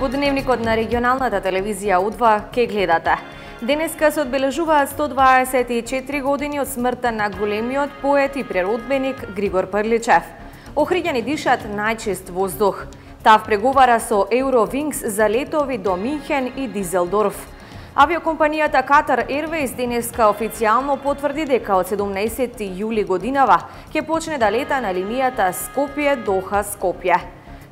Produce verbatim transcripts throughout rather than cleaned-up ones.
Во дневникот на регионалната телевизија У два ке гледате. Денеска се одбележуваат сто дваесет и четири години од смртта на големиот поет и преродбеник Григор Прличев. Охриѓани дишат најчист воздух. ТАВ преговара со Eurowings за летови до Минхен и Дизелдорф. Авиокомпанијата Qatar Airways денеска официјално потврди дека од седумнаесети јули годинава ќе почне да лета на линијата Скопје-Доха-Скопје.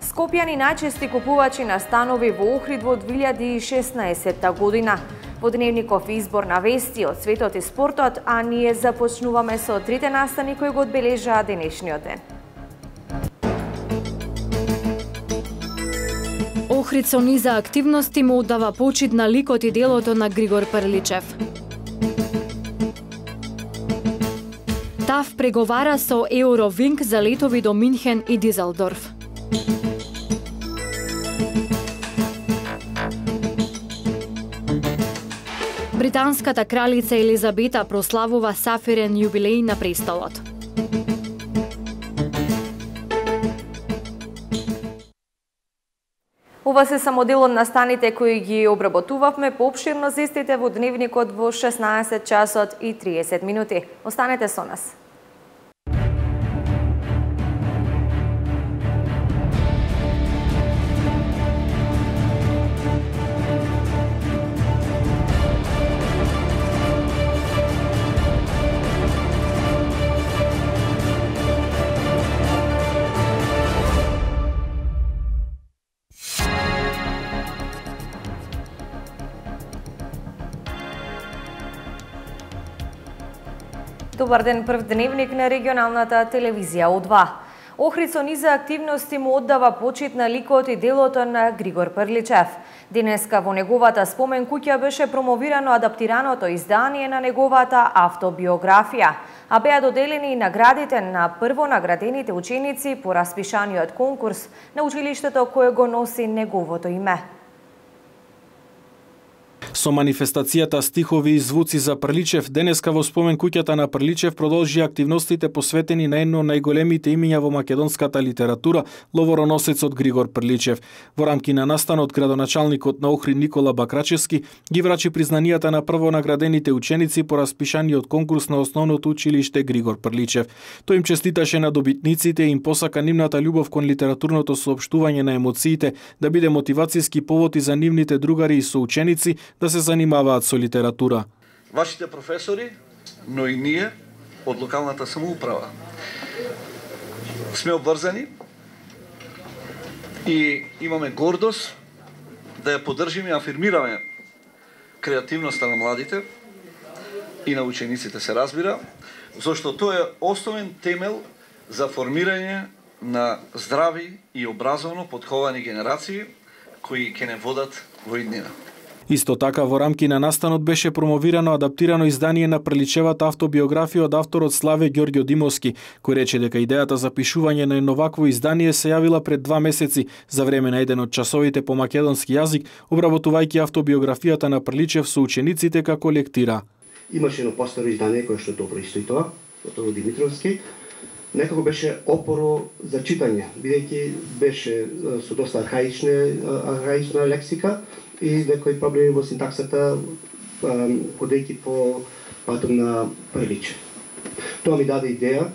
Скопјани најчести купувачи на станови во Охрид во две илјади и шеснаесетта година. Во дневников избор на вести од светот и спортот, а ние започнуваме со трите настани кои го одбележаа денешниот ден. Охрид со низа активности му оддава почит на ликот и делото на Григор Прличев. ТАВ преговара со Eurowings за летови до Минхен и Дизелдорф. Британската кралица Елизабета прославува сафирен јубилеј на престолот. Ова се само дел од настаните кои ги обработувавме. Поопширно за истите во дневникот во шеснаесет часот и триесет минути. Останете со нас. Добар ден, прв дневник на регионалната телевизија У два. Охрид со низа активности му оддава почит на ликот и делото на Григор Прличев. Денеска во неговата спомен куќа беше промовирано адаптираното издание на неговата автобиографија, а беа доделени и наградите на првонаградените ученици по распишаниот конкурс на училиштето кое го носи неговото име. Со манифестацијата стихови и звуци за Прличев, денеска во спомен куќата на Прличев продолжи активностите посветени на едно од најголемите имиња во македонската литература, ловороносецот Григор Прличев. Во рамки на настанот, градоначалникот на Охрид Никола Бакрачевски ги врачи признанијата на првонаградените ученици по распишаниот конкурс на основното училиште Григор Прличев. Тој им честиташе на добитниците и им посака нивната љубов кон литературното соопштување на емоциите да биде мотивацијски повод и за нивните другари и соученици да се занимаваат со литература. Вашите професори, но и ние од локалната самоуправа сме обврзани и имаме гордост да ја поддржиме и афирмираме креативноста на младите и на учениците, се разбира, зашто тоа е основен темел за формирање на здрави и образовно подховани генерации кои ќе не водат во иднина. Исто така, во рамки на настанот беше промовирано адаптирано издание на Прличевата автобиографија од авторот Славе Ѓорѓо Димовски, кој рече дека идејата за пишување на едно вакво издание се јавила пред два месеци за време на еден од часовите по македонски јазик, обработувајќи автобиографијата на Прличев со учениците како лектира. Имаше едно постаро издание кое што добро истои тоа, од Димитровски. Некако беше опоро за читање, бидејќи беше со доста архаична, архаична лексика и некои проблеми во синтаксата, ходејќи по патот на Прличев. Тоа ми даде идеја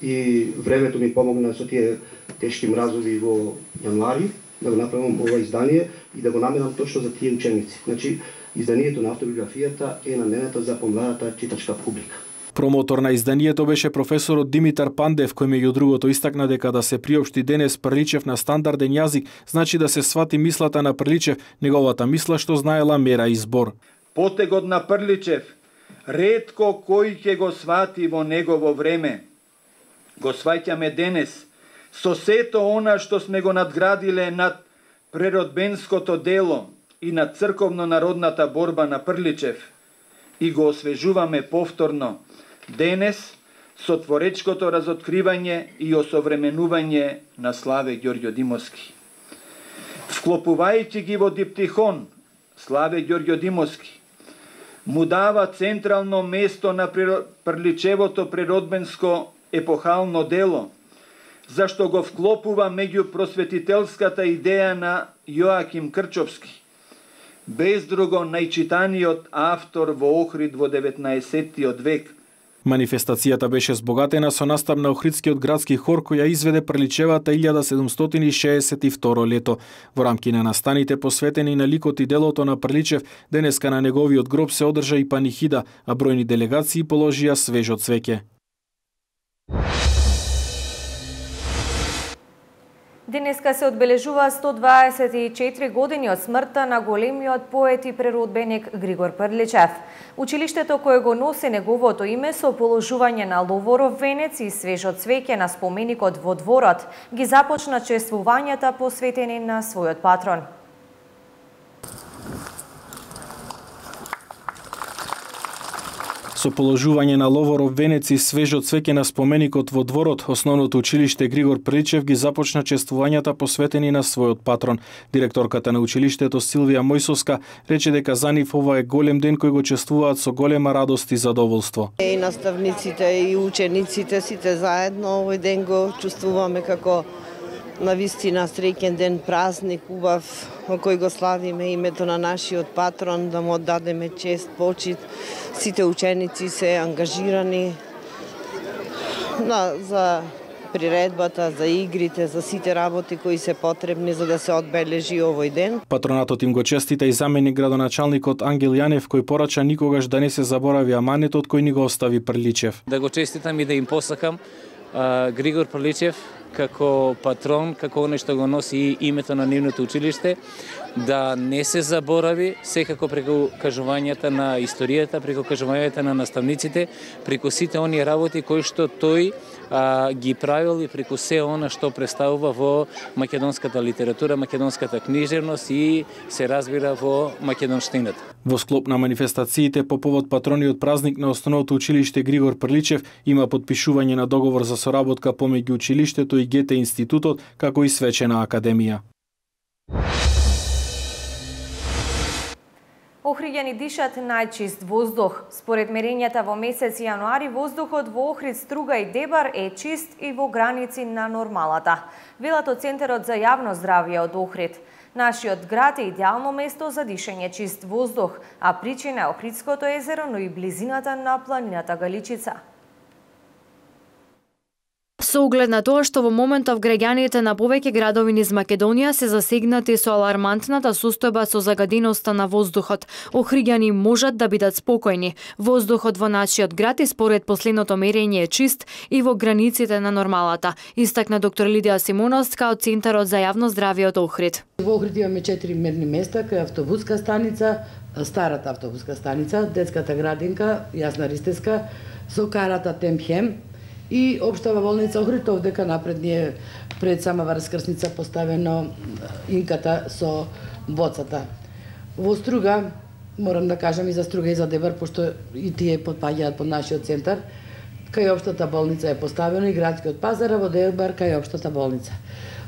и времето ми помогна со тие тешки мразови во јануари да го направам ова издание и да го наменам точно за тие ученици. Значи, изданието на автобиографијата е наменето за помладата читачка публика. Промотор на изданието беше професорот Димитар Пандев, кој меѓу другото истакна дека да се приопшти денес Прличев на стандарден јазик, значи да се свати мислата на Прличев, неговата мисла што знаела мера и збор. Потегот на Прличев, ретко кој ќе го свати во негово време. Го сваќаме денес, со сето она што сме го надградиле над преродбенското дело и над црковно-народната борба на Прличев, и го освежуваме повторно, денес со творечкото разоткривање и осовременување на Славе Ѓорѓо Димовски. Вклопувајќи ги во диптихон, Славе Ѓорѓо Димовски му дава централно место на Прличевото преродбенско епохално дело, зашто го вклопува меѓу просветителската идеја на Јоаким Крчовски, без друго најчитаниот автор во Охрид во деветнаесеттиот век. Манифестацијата беше збогатена со настап на Охридскиот градски хор кој ја изведе приличевата илјада седумстотини шеесет и второ лето. Во рамки на настаните посветени на ликот и делото на Приличев, денеска на неговиот гроб се одржа и панихида, а бројни делегации положија свежо цвеќе. Денеска се одбележува сто дваесет и четири години од смртта на големиот поет и преродбеник Григор Прличев. Училиштето кое го носи неговото име со положување на ловоров венец и свежо цвеќе на споменикот во дворот ги започна чествувањата посветени на својот патрон. Со положување на ловоров венец и свежо цвеќе на споменикот во дворот, основното училиште Григор Прличев ги започна чествувањата посветени на својот патрон. Директорката на училиштето Силвија Мојсовска рече дека за нив ова е голем ден кој го чествуваат со голема радост и задоволство. И наставниците и учениците сите заедно овој ден го чувствуваме како навистина среќен ден, празник убав во кој го славиме името на нашиот патрон, да му оддадеме чест, почит. Сите ученици се ангажирани на, за приредбата, за игрите, за сите работи кои се потребни за да се одбележи овој ден. Патронатот им го честита и заменик градоначалникот Ангел Јанев, кој порача никогаш да не се заборави аманетот кој ни го остави Прличев. Да го честитам и да им посакам а, Григор Прличев како патрон, како оној што го носи името на нивното училиште, да не се заборави, секако преку кажувањата на историјата, преку кажувањата на наставниците, преку сите оние работи кои што тој а, ги правил и преку се она што представува во македонската литература, македонската книжевност и се разбира во македонштината. Во склоп на манифестациите по повод патрониот празник на основното училиште Григор Прличев има потпишување на договор за соработка помеѓу училиштето и Гете институтот, како и свечена академија. Охриѓани дишат најчист воздух. Според мерењата во месец јануари, воздухот во Охрид, Струга и Дебар е чист и во граници на нормалата. Велат од Центарот за јавно здравје од Охрид. Нашиот град е идеално место за дишење чист воздух, а причина е Охридското езеро, но и близината на планината Галичица. Со оглед на тоа што во моментов граѓаните на повеќе градови низ Македонија се засегнати со алармантната состојба со загаденоста на воздухот, охриѓани можат да бидат спокојни. Воздухот во нашиот град и според последното мерење е чист и во границите на нормалата, истакна доктор Лидија Симоновска од Центарот за јавно здравје од Охрид. Во Охрид имаме четири мерни места, кај автобуска станица, старата автобуска станица, детската градинка, Јасна Ристеска, со карата Темхем, и општава болница Охрид, овдека напред ни е пред сама раскрсница поставено инката со боцата. Во Струга, морам да кажам и за Струга и за Дебар, пошто и тие подпаѓаат под нашиот центар, кај општата болница е поставено и градскиот пазар, а во Дебар кај општата болница.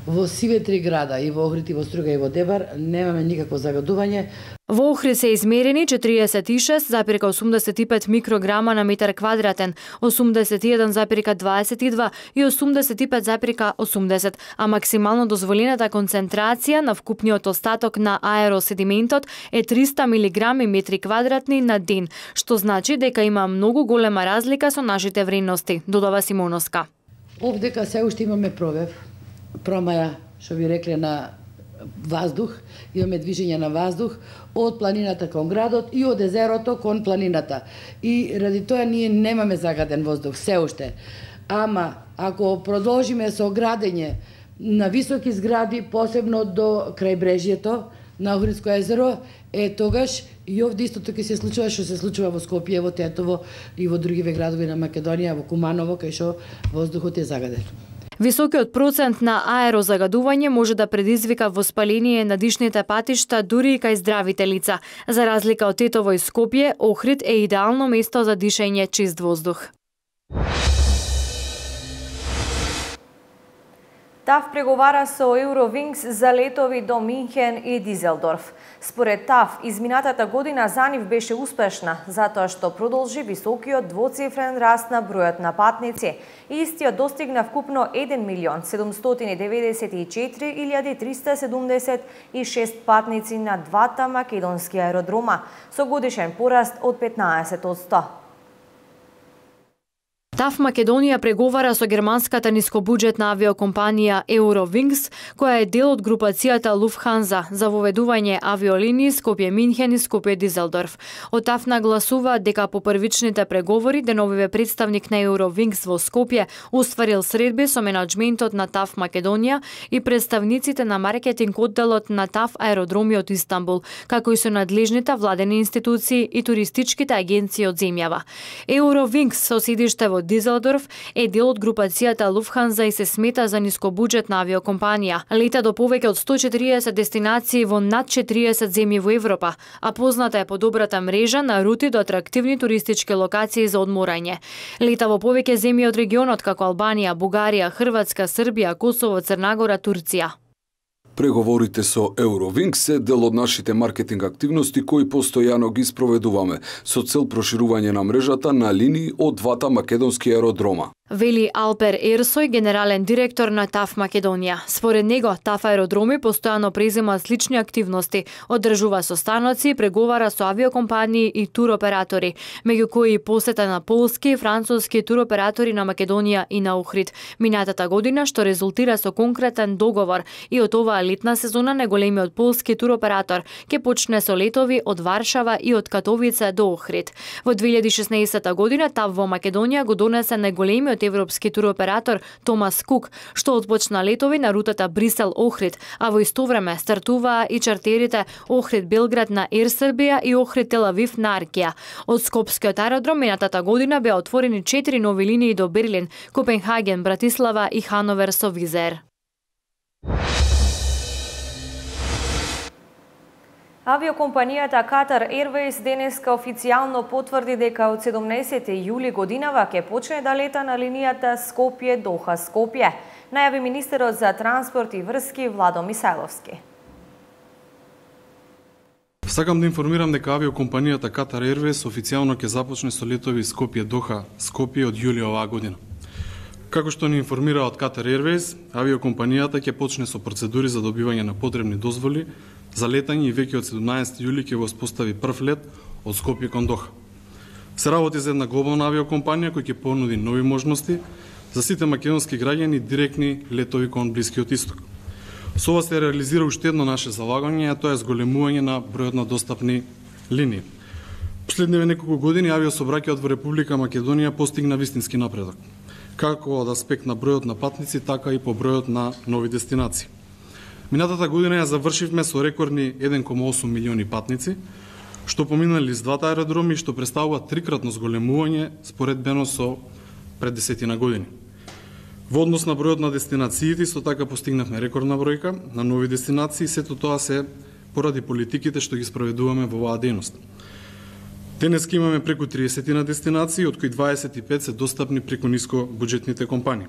Во сиве три града, и во Охрид, и во Струга, и во Дебар, немаме никакво загадување. Во Охрид се измерени четириесет и шест запирка осумдесет и пет микрограма на метар квадратен, осумдесет и еден запирка дваесет и два и осумдесет и пет запирка осумдесет, а максимално дозволената концентрација на вкупниот остаток на аероседиментот е триста милиграми метри квадратни на ден, што значи дека има многу голема разлика со нашите вредности, додава Симоновска. Овдека се уште имаме провев, промаја, што ви рекле, на воздух, имаме движење на воздух од планината кон градот и од езерото кон планината. И ради тоа ние немаме загаден воздух се уште. Ама ако продолжиме со градење на високи згради, посебно до крајбрежјето на Охридско езеро, е тогаш и овде истото ќе се случува што се случува во Скопје, во Тетово и во другиве градови на Македонија, во Куманово, кај што воздухот е загаден. Високиот процент на аерозагадување може да предизвика воспаление на дишните патишта дури и кај здравите лица. За разлика од Тетово и Скопје, Охрид е идеално место за дишење чист воздух. ТАВ преговара со Eurowings за летови до Минхен и Дизелдорф. Според ТАВ, изминатата година за нив беше успешна, затоа што продолжи високиот двоцифрен раст на бројот на патници и истиот достигна вкупно еден милион седумстотини деветдесет и четири илјади триста седумдесет и шест патници на двата македонски аеродрома, со годишен пораст од петнаесет одсто. ТАВ Македонија преговара со германската нискобуџетна авиокомпанија Eurowings, која е дел од групацијата Lufthansa за воведување авиолинии Скопје-Минхен и Скопје-Дизелдорф. Од ТАВ нагласува дека по првичните преговори деновиве представник на Eurowings во Скопје остварил средби со менаџментот на ТАВ Македонија и представниците на маркетинг одделот на ТАВ аеродроми од Истанбул, како и со надлежните владени институции и туристичките агенции од земјава. Eurowings со седиште во Дизелдорф е дел од групацијата Lufthansa и се смета за нискобуџетна авиокомпанија. Лета до повеќе од сто и четириесет дестинации во над четириесет земји во Европа, а позната е по добрата мрежа на рути до атрактивни туристички локации за одморање. Лета во повеќе земји од регионот како Албанија, Бугарија, Хрватска, Србија, Косово, Црна Гора, Турција. Преговорите со Eurowings се дел од нашите маркетинг активности кои постојано ги спроведуваме со цел проширување на мрежата на линии од двата македонски аеродрома. Вели Алпер Ерсој, генерален директор на ТАВ Македонија. Според него, ТАВ аеродроми постојано преземаат слични активности, одржува состаноци, преговара со авиокомпании и туроператори, меѓу кои посета на полски и француски туроператори на Македонија и на Охрид минатата година, што резултира со конкретен договор и од оваа летна сезона најголемиот полски туроператор ќе почне со летови од Варшава и од Катовице до Охрид. Во две илјади и шеснаесетта година ТАВ во Македонија го донесе најголемиот европски туроператор Томас Кук, што отпочна летови на рутата Брисел-Охрид, а во исто време стартуваа и чартерите Охрид-Белград на Ер Србија и Охрид-Тел-Авив на Аркија. Од Скопскиот аеродром минатата година беа отворени четири нови линии до Берлин, Копенхаген, Братислава и Хановер со Визер. Авиокомпанијата Qatar Airways денеска официјално потврди дека од седумнаесети јули годинава ќе почне да лета на линијата Скопје-Доха-Скопје, најави министерот за транспорт и врски Владо Мисајловски. Сакам да информирам дека авиокомпанијата Qatar Airways официјално ќе започне со летови Скопје-Доха-Скопје од јули оваа година. Како што ни информира од Qatar Airways, авиокомпанијата ќе почне со процедури за добивање на потребни дозволи за летање и веќе од седумнаесети јули ќе го спостави прв лет од Скопје кон Доха. Се работи за една глобална авиокомпанија која ќе понуди нови можности за сите македонски граѓани директни летови кон Блискиот Исток. Со ова се реализира уште едно наше залагање, а тоа е зголемување на бројот на достапни линии. Последниве неколку години авиособраќајот во Република Македонија постигна вистински напредок, како од аспект на бројот на патници, така и по бројот на нови дестинации. Минатата година ја завршивме со рекордни еден кoma осум милиони патници, што поминали с двата аеродроми, што представува трикратно зголемување споредбено со пред десетина години. Во однос на бројот на дестинациите, исто така постигнавме рекордна бројка на нови дестинации, сето тоа се поради политиките што ги спроведуваме во оваа дејност. Денеска имаме преку триесет дестинации, од кои дваесет и пет се достапни преку нискобуџетните компании.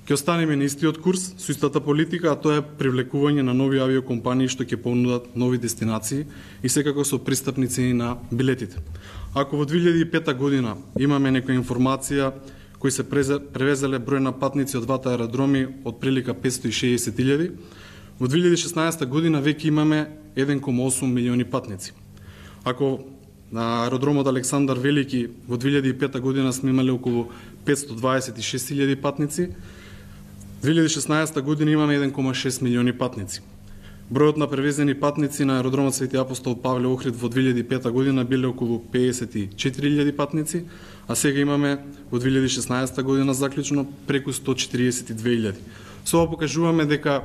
Ќе останеме на истиот курс со истата политика, а тоа е привлекување на нови авиокомпании што ќе понудат нови дестинации и секако со пристапни цени на билетите. Ако во две илјади и пета година имаме некоја информација кои се превезеле број на патници од двата аеродроми од прилика петстотини и шеесет илјади, во две илјади и шеснаесета година веќе имаме еден кoma осум милиони патници. Ако на аеродромот Александар Велики во две илјади и пета година сме имале околу петстотини дваесет и шест илјади патници, две илјади и шеснаесета година имаме еден кoma шест милиони патници. Бројот на превезени патници на аеродромот Свети Апостол Павле Охрид во две илјади и пета година биле околу пеесет и четири илјади патници, а сега имаме во две илјади и шеснаесета година заклучно преку сто и четириесет и две илјади. Со ова покажуваме дека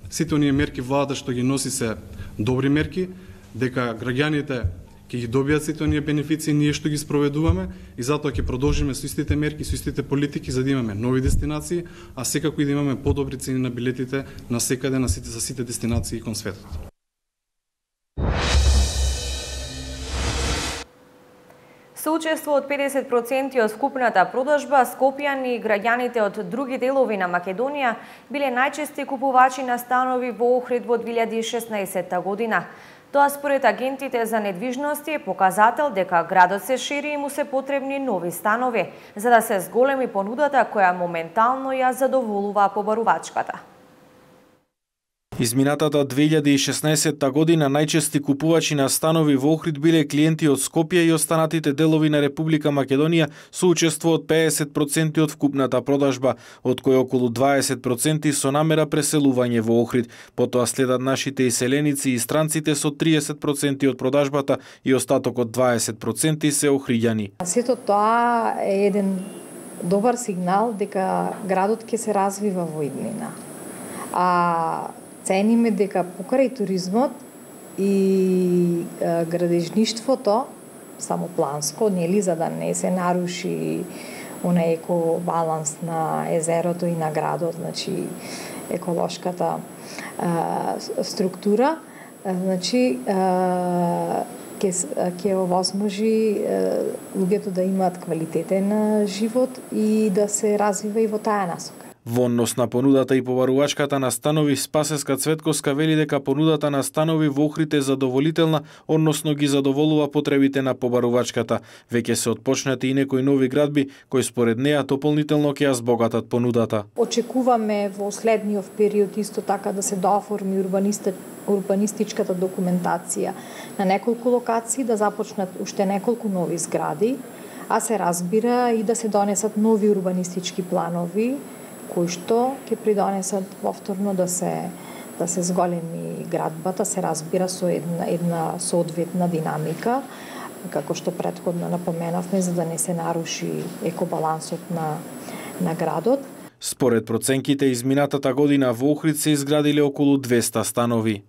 сите оние мерки владата што ги носи се добри мерки, дека граѓаните ќе ги добијат сите оние бенефиции ние што ги спроведуваме и затоа ќе продолжиме со истите мерки, со истите политики за да имаме нови дестинации, а секако и да имаме подобри цени на билетите на секаде на сите за сите дестинации кон светот. Со учество од педесет проценти од вкупната продажба, скопјани и граѓаните од други делови на Македонија биле најчести купувачи на станови во Охрид во две илјади и шеснаесетта година. Тоа според агентите за недвижности е показател дека градот се шири и му се потребни нови станови, за да се зголеми понудата која моментално ја задоволува побарувачката. Изминатата две илјади и шеснаесетта година најчести купувачи на станови во Охрид биле клиенти од Скопје и останатите делови на Република Македонија со учество од педесет проценти од вкупната продажба, од кои околу дваесет проценти со намера преселување во Охрид. Потоа следат нашите иселеници и странците со триесет проценти од продажбата и остатокот дваесет проценти се охриѓани. Сето тоа е еден добар сигнал дека градот ќе се развива во иднина. А цениме дека покрај туризмот и е, градежништвото, самопланско, нели, за да не се наруши онај еко баланс на езерото и на градот, значи еколошката е, структура, е, значи ќе ќе овозможи луѓето да имаат квалитетен живот и да се развива и во таа насока. Во однос на понудата и побарувачката на станови, Спасеска Цветковска вели дека понудата на станови во Охрид е задоволителна, односно ги задоволува потребите на побарувачката. Веќе се отпочнати и некои нови градби, кои според неа дополнително ќе ја збогатат понудата. Очекуваме во следниот период исто така да се дооформи урбанистичката документација на неколку локации, да започнат уште неколку нови згради, а се разбира и да се донесат нови урбанистички планови, кои што ќе придонесат повторно да се да се зголеми градбата, се разбира со една една соодветна динамика, како што претходно напоменавме, за да не се наруши екобалансот на на градот. Според проценките, изминатата година во Охрид се изградиле околу двеста станови.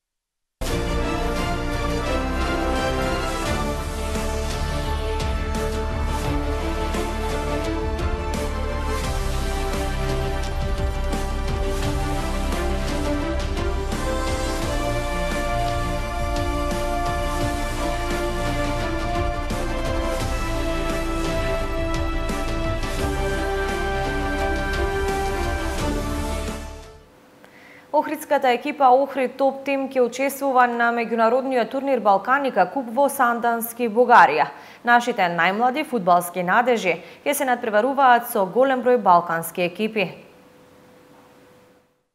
Охридската екипа Охрид Топ Тим ќе учествува на меѓународниот турнир Балканика Куп во Сандански, Бугарија. Нашите најмлади фудбалски надежи ќе се надпреваруваат со голем број балкански екипи.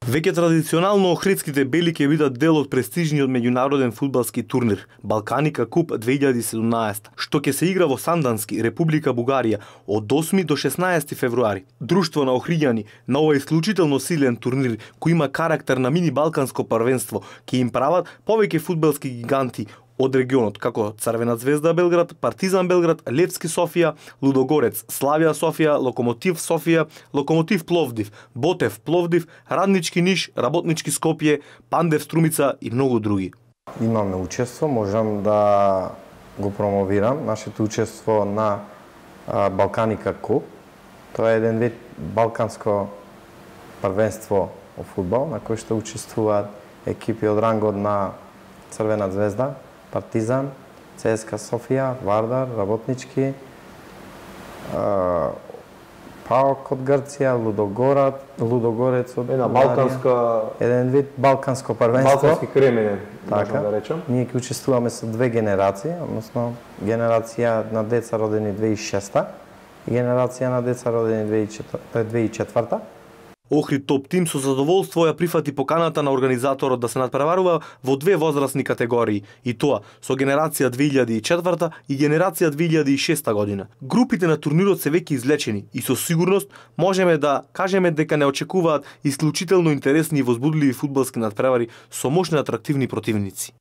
Веќе традиционално охридските бели ќе бидат дел од престижниот меѓународен фудбалски турнир Балканика Куп две илјади и седумнаесетта, што ќе се игра во Сандански, Република Бугарија, од осми до шеснаесети февруари. Друштво на охриѓани на овој исклучително силен турнир, кој има карактер на мини балканско првенство, ќе им прават повеќе фудбалски гиганти од регионот, како Црвена звезда Белград, Партизан Белград, Левски Софија, Лудогорец, Славија Софија, Локомотив Софија, Локомотив Пловдив, Ботев Пловдив, Раднички Ниш, Работнички Скопје, Пандев Струмица и многу други. Имаме учество, можам да го промовирам нашето учество на а, Балканика Куп. Тоа е еден вид балканско првенство во фудбал, на кој што учествуваат екипи од рангот на Црвена звезда, Партизан, ЦСКА Софија, Вардар, Работнички, ПАОК од Грција, Лудогорат, Лудогорец од една балканска, еден вид балканско првенство. Балкански кремене, така, да речем. Ние ќе учествуваме со две генерации, односно генерација на деца родени две илјади и шеста и генерација на деца родени две илјади и четврта. Охрид Топ Тим со задоволство ја прифати поканата на организаторот да се надпреварува во две возрастни категории, и тоа со генерација две илјади и четврта и генерација две илјади и шеста година. Групите на турнирот се веќе излечени и со сигурност можеме да кажеме дека не очекуваат исклучително интересни и возбудливи фудбалски надпревари со мощни атрактивни противници.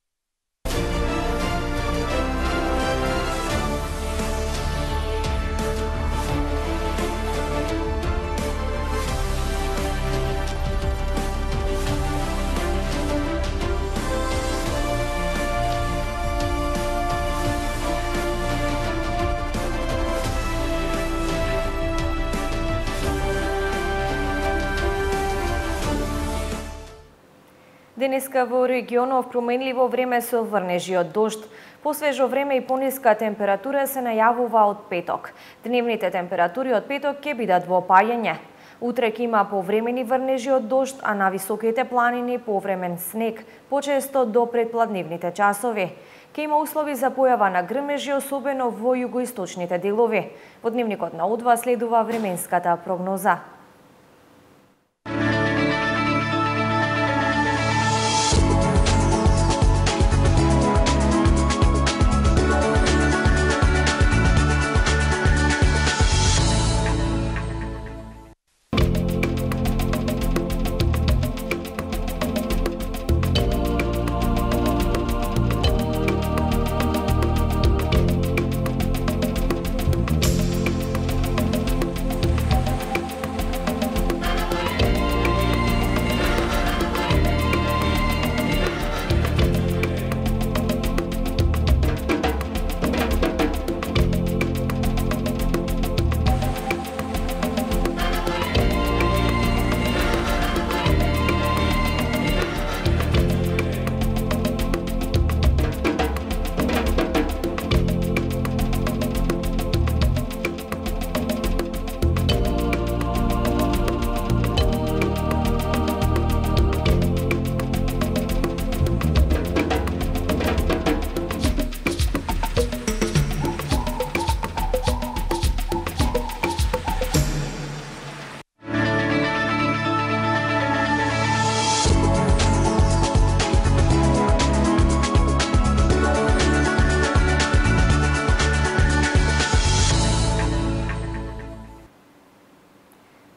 Денеска во регионов променливо време со врнежи од дожд. Посвежо време и пониска температура се најавува од петок. Дневните температури од петок ќе бидат во опаѓање. Утре ќе има повремени врнежи од дожд, а на високите планини повремен снег, почесто до предпладневните часови. Ке има услови за појава на грмежи, особено во југоисточните делови. Во дневникот на Удва следува временската прогноза.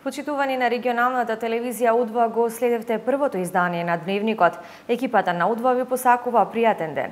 Почитувани на регионалната телевизија Удва, го следевте првото издание на Дневникот. Екипата на Удва ви посакува пријатен ден.